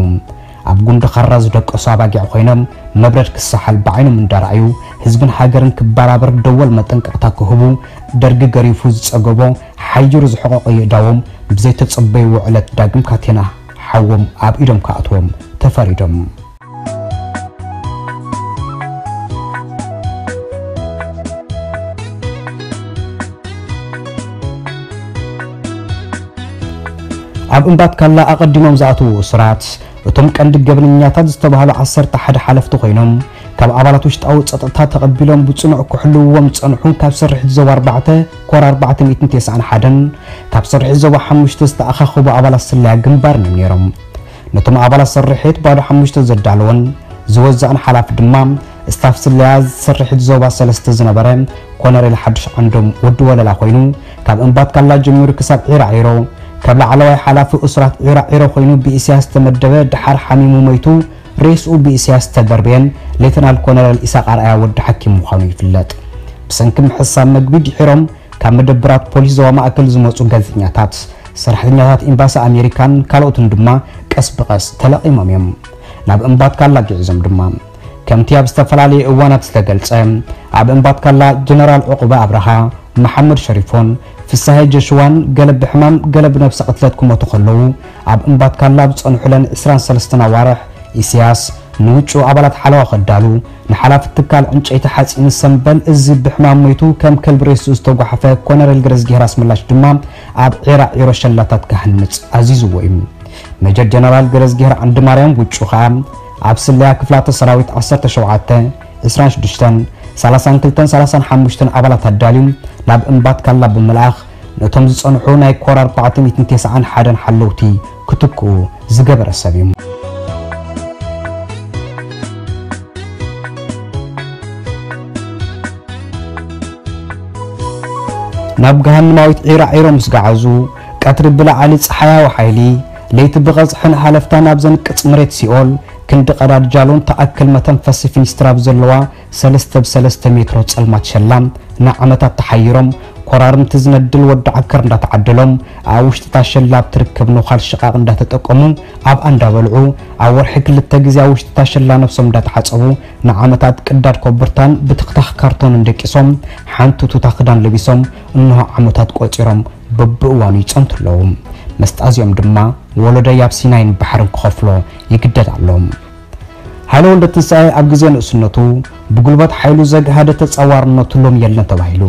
ኣብ ጉንዲ ኻራ ዝደቀሱ ኣባጊዕ ኮይኖም መብረድ ክሰሓል ብዓይኖም እንዳረኣዩ ህዝብን ሃገርን ክበራበር ደወል መጠንቀቕታ ክህቡ ደርጊ ገሪፉ ዝጸገቦ ሓይሩ ዝሕቐቖ የእዳዎም ብዘይተጸበይዎ ዕለት ዳግም ካቴና ሓዎም ኣብ ኢዶም ክኣትዎም ተፈሪዶም። ኣብ እምባትካላ ኣቐዲሞም ዝኣተዉ እሱራት እቶም ቀንዲ ገበነኛታት ዝተባህሉ ዓሰርተ ሓደ ሓለፍቲ ኮይኖም ካብ ኣባላት ውሽጣዊ ጸጥታ ተቐቢሎም ብጽኑዕ ክሕልውዎም ዝጸንሑ ካብ ስርሒት ዞባ ኣርባዕተ ኮር ኣርባዕተ ሚእትን ተስዓን ሓደን ካብ ስርሒት ዞባ ሓሙሽተ ዝተኣኻኸቡ ኣባላት ስለያ ግንባርን እዮም ነይሮም። ነቶም ኣባላት ስርሒት ባዶ ሓሙሽተ ዘዳለወን ዝወዘኣን ሓላፊ ድማ ስታፍ ስለያ ዝሰርሕት ዞባ ሰለስተ ዝነበረ ኮነሬል ሓዱሽ ዓንዶም ወዲ ወለላ ኮይኑ፣ ካብ እምባትካላ ጀሚሩ ክሳብ ዒራዒሮ፣ ካብ ላዕለዋይ ሓላፊ እሱራት ዒራዒሮ ኮይኑ ብኢሳያስ ዝተመደበ፣ ደሓር ሓሚሙ ሞይቱ፣ ሬስኡ ብኢሳያስ ዝተደርበየን ሌተናል ኮነሬል ኢሳቕ ኣርኣያ ወዲ ሓኪም ምዃኑ ይፍለጥ። ብሰንኪ ምሕሳብ መግቢ ድሒሮም ካብ መደብራት ፖሊስ ዞባ ማእከል ዝመጹ ጋዜጠኛታት፣ ሰራሕተኛታት ኤምባሲ ኣሜሪካን ካልኦትን ድማ ቀስ ብቐስ ተለቒሞም እዮም። ናብ እምባትካላ ግዒዞም ድማ፣ ከምቲ ኣብ ዝተፈላለየ እዋናት ዝተገልጸ፣ ኣብ እምባትካላ ጀነራል ዑቕበ ኣብርሃ፣ መሓመድ ሸሪፎን ፍሳሄ ጀሽዋን ገለ ብሕማም ገለ ብነብሰ ቅትለት ክሞቱ ከለዉ፣ ኣብ እምባትካላ ኣብ ዝጸንሑለን ዕስራን ሰለስተን ኣዋርሕ፣ ኢሳያስ ንውጩ ኣባላት ሓለዋ ከዳሉ፣ ንሓላፊ ትካል ዕንጨይቲ ሓጺን ሰምበል እዚ ብሕማም ሞይቱ ከም ከልቢ ሬስኡ ዝተጓሓፈ ኮነሬል ገረዝጊሄር ኣስመላሽ ድማ ኣብ ዒራዒሮ ሸላታት ክሃንጽ ኣዚዝዎ እዩ። ሜጀር ጀነራል ገረዝጊሄር ዓንድማርያም ውጩ ኸኣ ኣብ ስለያ ክፍላተ ሰራዊት ዓሰርተ ሸውዓተ፣ ዕስራን ሽዱሽተን፣ ሰላሳን ክልተን ሰላሳን ሓሙሽተን ኣባላት ኣዳልዩ ናብ እምባትካላ ብምልኣኽ ነቶም ዝጸንሑ ናይ ኮር ኣርባዕተ ሚእትን ተስዓን ሓደን ሓለውቲ ክትክኡ ዝገበረ ሰብ እዩ። ናብ ገሃንማዊት ዒራዒሮ ምስ ገዓዙ፣ ቀትሪ ብላዕሊ ጸሓያዊ ሓይሊ፣ ለይቲ ብቐዝሕን ሃለፍታን ኣብ ዘንቅጽ መሬት ሲኦል፣ ክንዲ ቀዳድ ጃሎን ተኣክል መተንፈሲ ፊኒስትራ ኣብ ዘለዋ ሰለስተ ብሰለስተ ሜትሮ ጸልማት ሸላ ንዓመታት ተሓይሮም፣ ኮራርምቲ ዝነድል ወዲ ዓከር እንዳተዓደሎም፣ ኣብ ውሽጢ እታ ሸላ ኣብ ትርከብ ነዃል ሽቓቕ እንዳተጠቀሙ፣ ኣብኣ እንዳበልዑ፣ ኣብ ወርሒ ክልተ ግዜ ኣብ ውሽጢ እታ ሸላ ነብሶም እንዳተሓጸቡ፣ ንዓመታት ቅዳድ ኮቦርታን ብትኽታኽ ካርቶንን ደቂሶም፣ ሓንቲ ቱታ ክዳን ለቢሶም፣ እንሆ ዓመታት ቆጺሮም በብእዋኑ ይጸንቱ ኣለዉ። መስጣዚኦም ድማ ወለዶይ ኣብ ሲናይን ባሕርን ክኸፍሎ ይግደድ ኣሎ። ሃይለ ወልደትንሳኤ ኣብ ግዜ ንእስነቱ ብጉልበት ሓይሉ ዘግሃደ ተጻዋርነቱ ሎም የለን ተባሂሉ።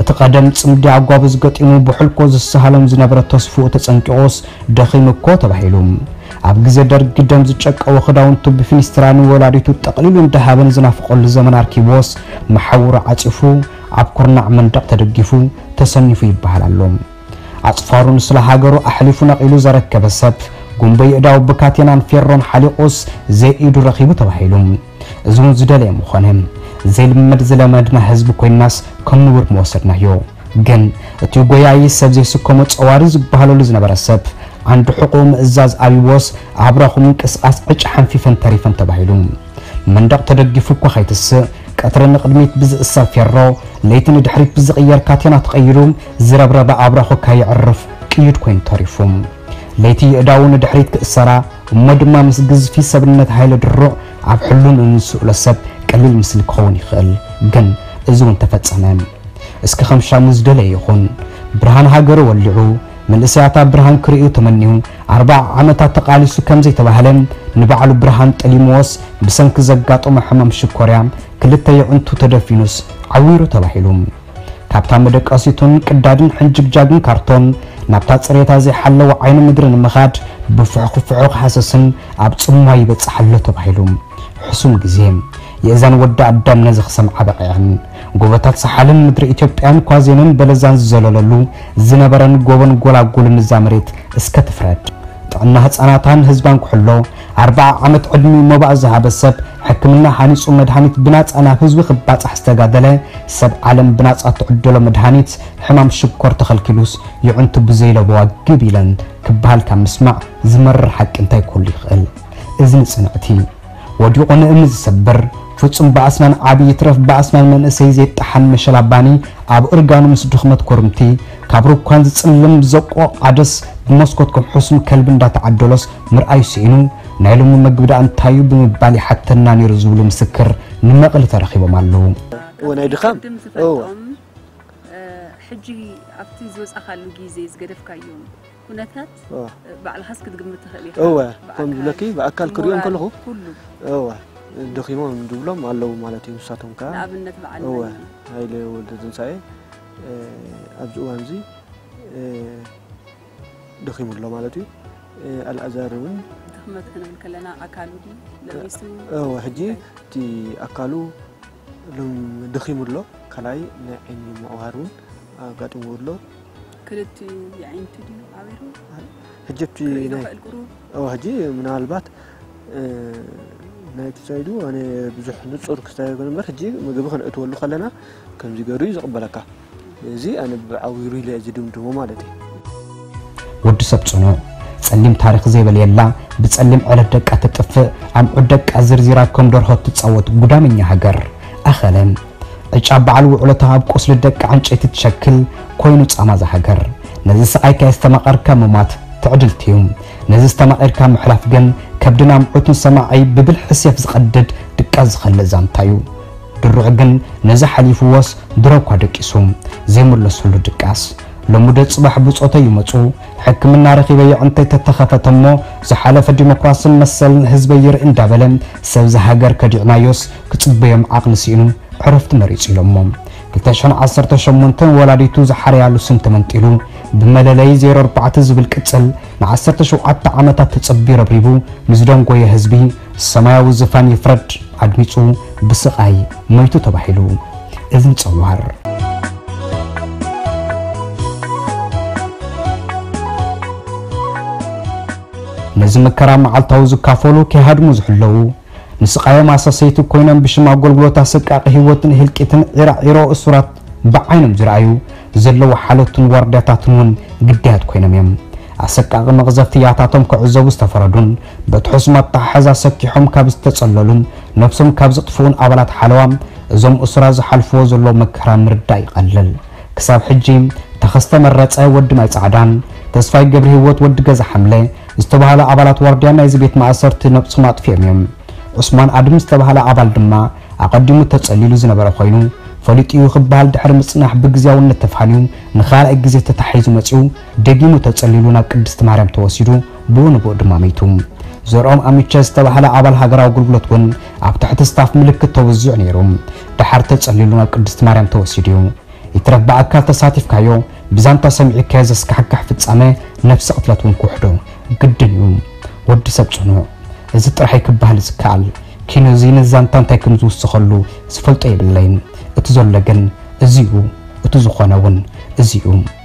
እቲ ቀደም ጽምዲ ኣጓብዝ ገጢሙ ብሕልኮ ዝሰሃሎም ዝነበረ ተስፍኡ ተጸንቂቑስ ደኺሙ እኮ ተባሂሉ። ኣብ ግዜ ደርጊ ደም ዝጨቀወ ክዳውንቱ ብፊኒስትራ ንወላዲቱ ጠቕሊሉ እንዳሃበ ንዝናፍቐሉ ዘመን ኣርኪብዎስ መሓውሩ ዓጺፉ ኣብ ኩርናዕ መንደቕ ተደጊፉ ተሰኒፉ ይበሃል ኣሎ። ኣጽፋሩ ንስለ ሃገሩ ኣሕሊፉ ነቒሉ ዘረከበ ሰብ፣ ጉንበ የእዳው ብካቴናን ፌሮን ሓሊቑስ ዘይኢዱ ረኺቡ ተባሂሉ። እዚ እውን ዝደለየ ምኾነ። ዘይልመድ ዝለመድና ህዝቢ ኮይንናስ ከም ንቡር ምወሰድናዮ። ግን እቲ ጎያዪ ሰብ ዘይስከሞ ጸዋሪ ዝበሃለሉ ዝነበረ ሰብ፣ ዓንዲ ሕቖኡ ምእዛዝ ኣብይዎስ ኣብራኹ ምንቅስቓስ ዕጭ ሓንፊፈን ተሪፈን ተባሂሉ። መንደቕ ተደጊፉ እኳ ከይትስእ፣ ቀትሪ ንቕድሚት ብዝእሰር ፌሮ፣ ለይቲ ንድሕሪት ብዝቕየር ካቴና ተቐይሩ፣ ዝረብረበ ኣብራኹ ከየዕርፍ ቅዩድ ኮይኑ ተሪፉ። ለይቲ የእዳዉ ንድሕሪት ክእሰራ፣ እሞ ድማ ምስ ግዝፊ ሰብነት ሃይለ ድሩዕ ኣብ ሕሉን እንስእሎ ሰብ ቀሊል ምስሊ ክኸውን ይኽእል፣ ግን እዚ እውን ተፈጸመ። እስኪ ከም ሻሙ ዝደለየ ይኹን። ብርሃን ሃገሩ ወሊዑ፣ መንእሰያት ኣብ ብርሃን ክርእዩ ተመንዩ፣ ኣርብዓ ዓመታት ተቓሊሱ ከም ዘይተባህለ፣ ንባዕሉ ብርሃን ጠሊምዎስ፣ ብሰንኪ ዘጋጠሞ ሕማም ሽኮርያ፣ ክልተ የዕንቱ ተደፊኑስ ዓዊሩ ተባሂሉ። ካብታ መደቀሲቱን ቅዳድን ሕንጅግጃግን ካርቶን፣ ናብታ ጽሬታ ዘይሓለወ ዓይኒ ምድሪ ንምኻድ፣ ብፍሕኹፍሑ ክሃሰስን ኣብ ጽምዋ ይበጽሕ ኣሎ ተባሂሉ። ሕሱም ግዜ። የእዛን ወዲ ኣዳም ነዚ ክሰምዓ በቒዐን። ጎቦታት ሰሓልን ምድሪ ኢትዮጵያን ኳዜንን በለዛን ዝዘለለሉ ዝነበረን ጎቦን ጎላጉልን እዛ መሬት እስከ ትፍረድ። ጥዕና ህጻናታን ህዝባን ክሕሎ፣ ኣርብዓ ዓመት ዕድሚኡ መባእ ዝሃበ ሰብ፣ ሕክምና ሃኒጹ መድሃኒት ብናጻ ናብ ህዝቢ ክባጻሕ ዝተጋደለ፣ ሰብ ዓለም ብናጻ ትዕደሎ መድሃኒት ሕማም ሽኮር ተኸልኪሉስ፣ የዕንቱ ብዘይለበዋ ግብ ኢለን ክበሃል ካብ ምስማዕ ዝመርር ሓቂ እንታይ ክህሉ ይኽእል? እዚ ንጽንዕቲ። ወዲቑ ንእምኒ ዝሰብር፣ ፍጹም ብኣስናን ዓቢ ይትረፍ ብኣስናን መንእሰይ ዘይጠሓን መሸላ ባኒ ኣብ እርጋኑ ምስ ድኽመት ኮርምቲ፣ ካብ ሩኳን ዝጽልም ዘቆቕ ዓደስ ብመስኮት ከም ሕሱም ከልቢ እንዳተዓደሎስ ምርኣዩ ስኢኑ፣ ናይ ሎሚ መግቢ ደኣ እንታዩ ብምባል ይሓተና ነይሩ ዝብሉ ምስክር ንመቐለ ተረኺቦም ኣለዉ። እወ፣ ናይ ድኻም። ቅድም እወ። ዝፈልጦም፣ እ፣ ሕጂ ኣብቲ ዝወጻኻሉ ግዜ ዝገደፍካዮም ኩነታት፣ እወ። እ፣ ባዕልኻስ ክትግምት ትኽእል ኢኻ። እወ፣ ብኣካል፣ ከም ዝብለኪ ብኣካል ክሪኦም ሞራል፣ ከለኹ፣ ኩሉ። እወ፣ ደኺሞም ዝብሎም ኣለዉ ማለት እዩ። ንሳቶም ከኣ፣ ንኣብነት በዓል እወ፣ መን? ሃይለ ወልደትንሳኤ፣ እ፣ ኣብዚ እዋን እዚ፣ እ፣ ደኺሙ ኣሎ ማለት እዩ። እ፣ ኣልኣዛር እውን ድኽመት ክንብል ከለና ኣካሉ ድዩ ለቢሱ? እወ፣ ሕጂ እንታይ? እቲ ኣካሉ ሎም-፣ ደኺሙ ኣሎ። ካልኣይ ናይ ዓይኒ ምዕዋር እውን ኣጋጢምዎ ኣሎ። ክልቲኡ የዒንቱ ድዩ ዓዊሩ? ሕጂ እቲ ክርኢ ናይ፣ ይኽእል ቁሩብ? እወ፣ ሕጂ ምናልባት ናይቲ ሳይዱ ኣነ ብዙሕ ንጹር ክስታይ ኣይኮነ እምበር፣ ሕጂ ምግቢ ከነእትወሉ ከለና ከምዚ ገይሩ እዩ ዝቕበለካ። እዚ ኣነ ብዓቢሩ ኢለ ዝድምድሞ ማለት እዩ። ወዲ ሰብ ጽኑዕ፣ ጸሊም ታሪኽ ዘይበልየላ፣ ብጸሊም ዕለት ደቃ ትጥፍእ፣ ኣምዑት ደቃ ዝርዚራ ከም ደርሆ ትጻወት ጉዳመኛ ሃገር። ኣኸለ ዕጫ በዓል ውዕሎታ ኣብ ቁስሊ ደቂ ዕንጨይቲ ትሸክል ኮይኑ ጻማ እዛ ሃገር። ነዚ ስቓይካ የስተማቐርካ ምሟት ትዕድልቲ እዩ። ነዚ ዝተማቒርካ ምሕላፍ ግን ከብድን ኣምዑትን ሰማዒ ብብልሒ ሴፍ ዝቐድድ ድቃስ ዝኸልእ ዛንታ እዩ። ድሩዕ ግን ነዚ ሓሊፍዎስ ድሮ እኳ ደቂሱ ዘይምለሰሉ ድቃስ። ሎሚ ዶ ጽባሕ ብጾተይ ይመጹ፣ ሕክምና ረኺበ የዕንተይ ተተኸፈተ እሞ ዝሓለፈ ዲሞክራስን መሰልን ህዝበይ ይርኢ እንዳበለ ሰብዚ ሃገር ከዲዕናዮስ ክጽበዮም ዓቕሊ ስኢኑ ዕረፍቲ መሪጹ ኢሎሞ። ክልተ ሽሕን ዓሰርተ ሸሞንተን ወላዲቱ ዝሓረያሉ ስም ተመንጢሉ ብመለለዪ ዜሮ ኣርባዕተ ዝብል ቅጽል ንዓሰርተ ሸውዓተ ዓመታት ተጸቢዩ ረብሪቡ ምስ ደንጎየ ህዝቢ ሰማያዊ ዝፋን ይፍረድ ኣድሚጹ ብስቓይ ሞይቱ ተባሂሉ። እዝኒ ጸዋር። ነዚ መከራ መዓልታዊ ዝካፈሉ ከይሃድሙ ዝሕለዉ፣ ንስቓዮም ኣሳሰይቲ ኮይኖም ብሽም ኣገልግሎት ኣሰቃቂ ህይወትን ህልቂትን ዒራዒሮ እሱራት ብዓይኖም ዝረኣዩ ዘለዉ ሓለቱን ዋርድያታትን እውን ግዳያት ኮይኖም እዮም። ኣሰቃቂ መቕዘፍቲ ያታቶም ክዕዘቡ ዝተፈረዱን በቲ ሕሱም ኣተሓሕዛ ሰኪሖም ካብ ዝተጸለሉን ነብሶም ካብ ዘጥፍኡን ኣባላት ሓለዋ እዞም እሱራት ዝሓልፍዎ ዘለዉ መከራ ምርዳእ ይቐልል። ክሳብ ሕጂ ተኸስተ መረጸ ወዲ ማይ ጻዕዳን ተስፋይ ገብረ ህይወት ወዲ ገዛ ሓምለ ዝተባህሉ ኣባላት ዋርድያ ናይዚ ቤት ማእሰርቲ ነብሶም ኣጥፊኦም እዮም። ዑስማን ኣድም ዝተባህለ ኣባል ድማ ኣቐዲሙ ተጸሊሉ ዝነበረ ኮይኑ ፈሊጡ እዩ ክበሃል ድሕሪ ምጽናሕ ብግዝያውነት ተፋንዩ ንኻልኣይ ግዜ ተታሒዙ መጺኡ ደጊሙ ተጸሊሉ ናብ ቅድስቲ ማርያም ተወሲዱ ብኡ ንብኡ ድማ መይቱ። ዘርኦም ኣሚቸ ዝተባህለ ኣባል ሃገራዊ ኣገልግሎት እውን ኣብ ትሕቲ ስታፍ ምልክት ተወዚዑ ነይሩ። ደሓር ተጸሊሉ ናብ ቅድስቲ ማርያም ተወሲዱ እዩ። ይትረፍ ብኣካል ተሳቲፍካዮ ብዛንታ ሰሚዕካዮ ዘስካሕክሕ ፍጻመ ነፍሲ ቅትለት እውን ክውሕዶ ግድን እዩ። ወዲ ሰብ ጽኑዕ እዚ ጥራይ ክበሃል ዝከኣል ኪኖ እዚ ነዚ ዛንታ እንታይ ከም ዝውስኸሉ ዝፈልጦ የብለይን። እቲ ዘሎ ግን እዚ እዩ። እቲ ዝኾነ እውን እዚ እዩ።